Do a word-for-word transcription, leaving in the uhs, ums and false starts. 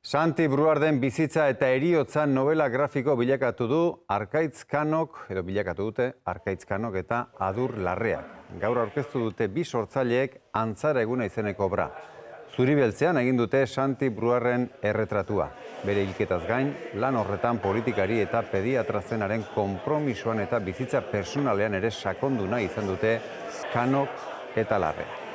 Santi Bruarden bizitza eta heriotza novela grafiko bilakatu du Arkaitz Kanok, edo bilakatu dute Arkaitz Kanok eta Adur Larreak. Gaur aurkeztu dute bi sortzaileek Antzara eguna izeneko obra. Zuribeltzean egin dute Santi Bruarden erretratua. Bere hilketaz gain, lan horretan politikari eta pediatra zenaren konpromisoan eta bizitza personalean ere sakondu nahi izan dute Kanok eta Larreak.